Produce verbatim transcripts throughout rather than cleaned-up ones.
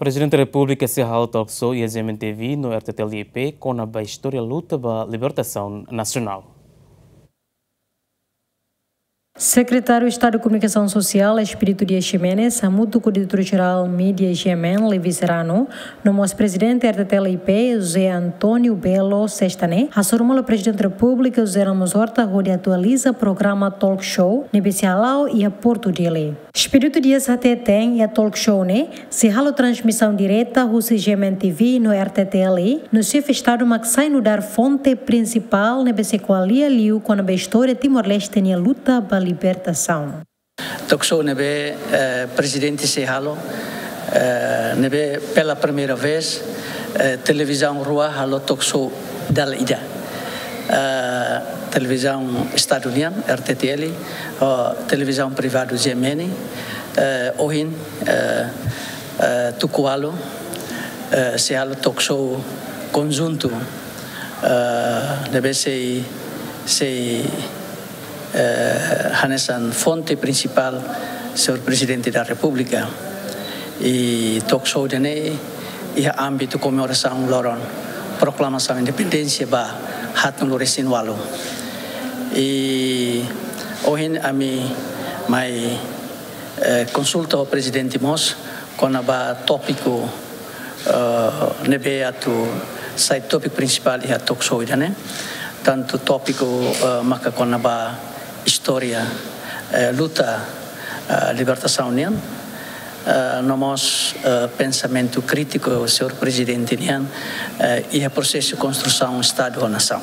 Prezidente Repúblika sei halo talk show iha G M N T V no R T T L I P kona-ba istória luta ba libertasaun nasionál. Sekretáriu Estadu Komunikasaun Sosiál, Expedito Dias Ximenes, hamutuk ho Diretór Jerál Mídia G M N, Levi Serrano, no mós Prezidente R T T L I P, José António Belo, sesta ne'e, hasoru malu Prezidente Repúblika, José Ramos Horta, hodi atualiza programa talk show ne'ebé sei hala'o iha Porto Dili. Expedito Dias hateten iha talk show ne'e sei halo transmisaun direta husi G M N T V no R T T L, no Xefe Estadu mak sai nu'udar fonte prinsipál ne'ebé sei ko'alia liu kona-ba istória Timor-Leste nia luta ba libertasaun. Talk show ne'ebé, eh, Prezidente sei halo, eh, ne'ebé pela primeira vez, eh, televizaun rua halo talk show dala ida. Eh, televizaun Estadu nian, R T T L, ho televizaun privadu G M N, eh, ohin, eh, eh, tuku ualu, eh, sei halo talk show konjuntu, eh, ne'ebé sei, sei, eh, hanesan fonte prinsipál, Señór Prezidente da Repúblika. I talk show ida-ne'e iha ámbitu komemorasaun loron proklamasaun independénsia ba haatnulu resin ualu. I ohin ami mai, eh, konsulta ho Prezidente mós kona-ba tópiku, eh, ne'ebé atu sai tópiku prinsipál iha talk show ida-ne'e. Tantu tópiku, eh, maka kona-ba istória, eh, luta, eh, libertasaun nian, eh, no mós, eh, pensamentu krítiku Señór Prezidente nian, eh, iha prosesu konstrusaun Estadu ho nasaun.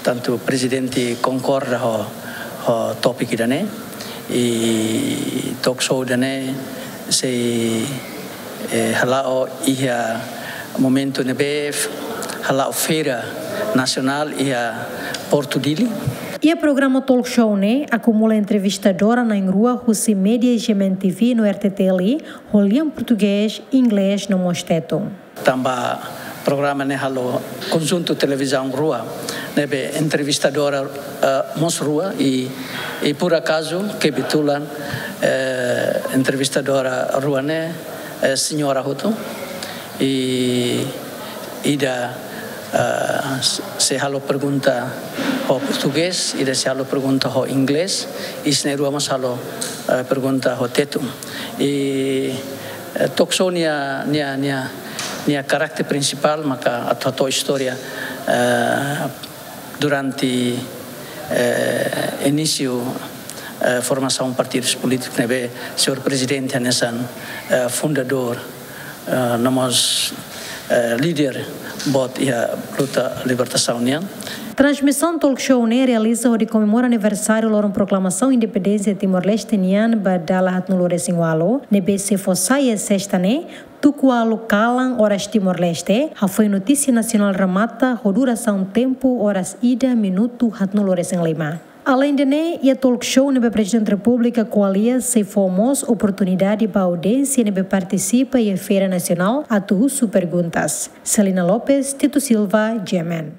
Tantu Prezidente konkorda ho, ho tópiku ida-ne'e, i talk show ida-ne'e sei, eh, hala'o iha momentu ne'ebé hala'o feira nasionál iha Porto Dili. Iha programa talk show ne'e akumula entrevistadór na'in-rua husi mídia G M N T V no R T T L, ho lian portugés, inglés no mós tetun. Tanba programa ne'e halo konjuntu televizaun rua, ne'ebé entrevistadora, eh, mós rua i, i por akazu, kebetulan, eh, entrevistadora rua ne'e, eh, señora hotu. I ida, eh, s-, sei halo pergunta ho portugés, ida sei halo pergunta ho inglés, i sira na'in-rua mós halo, eh, pergunta ho tetun. I, eh, talk show nia, nia, nia, nia karakter prinsipál maka atu hato'o istória, eh, durante, eh, inísiu, eh, formasaun partidus polítikus ne'ebé Señór Prezidente hanesan, eh, fundadór, eh, no mós, eh, líder boot iha luta libertasaun nian. Transmisaun talk show ne'e realiza hodi komemora aniversáriu loron proklamasaun independénsia Timor-Leste nian ba dala haatnulu resin ualu, ne'ebé sei fó sai iha sesta ne'e, tuku ualu kalan oras Timor-Leste, hafoin notísia nasionál remata ho durasaun tempu oras ida minutu haatnulu resin lima. Aleinde ne'e, iha talk show ne'ebé Prezidente Repúblika ko'alia sei fó mós oportunidade ba audiénsia ne'ebé partisipa iha Feira Nasionál atu husu perguntas. Celina Lopes, Tito Silva, G M N.